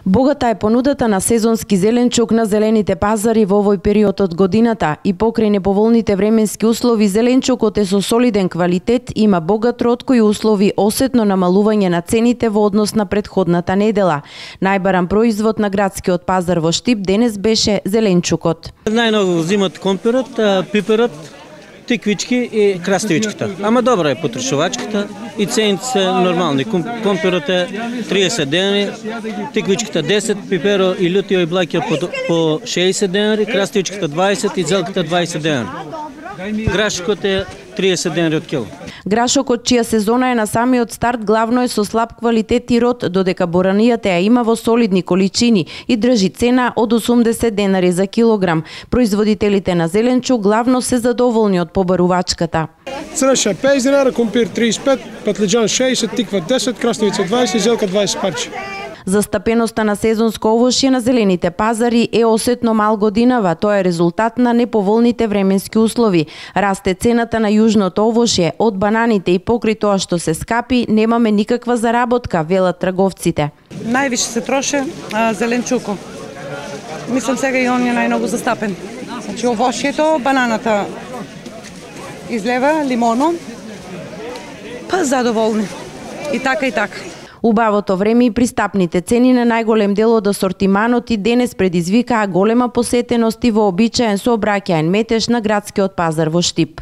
Богата е понудата на сезонски зеленчук на зелените пазари во овој период од годината и покрај неповолните временски услови зеленчукот е со солиден квалитет, има богат род кои услови осетно намалување на цените во однос на претходната недела. Најбаран производ на градскиот пазар во Штип денес беше зеленчукот. Најмногу взимат компирот, пиперот, тиквички и краставичката. Ама добра е потрошувачката и цените се нормални. Компирот е 30 денари, тиквичката 10, пиперо и лютио и блаќа по 60 денари, краставичката 20 и зелката 20 денари. Грашкот е 30 денари од кило. Грашокот, чија сезона е на самиот старт, главно е со слаб квалитет и род, додека боранијата ја има во солидни количини и држи цена од 80 денари за килограм. Производителите на зеленчук главно се задоволни од побарувачката. Црнеша 50 денари, компир 35, патлиџан 60, тиква 10, краставица 20, зелка 20 парче. Застапеноста на сезонско овошје на зелените пазари е осетно мал годинава. Тоа е резултат на неповолните временски услови. Расте цената на јужното овошје, од бананите и покрај тоа што се скапи, немаме никаква заработка, велат трговците. Највише се троше зеленчуко. Мислам сега и он е најмногу застапен. Значи овошјето, бананата излева, лимоно, па задоволни. И така и така. Убавото време и пристапните цени на најголем дел од асортиманот и денес предизвикаа голема посетеност и вообичаен сообраќаен метеж на градскиот пазар во Штип.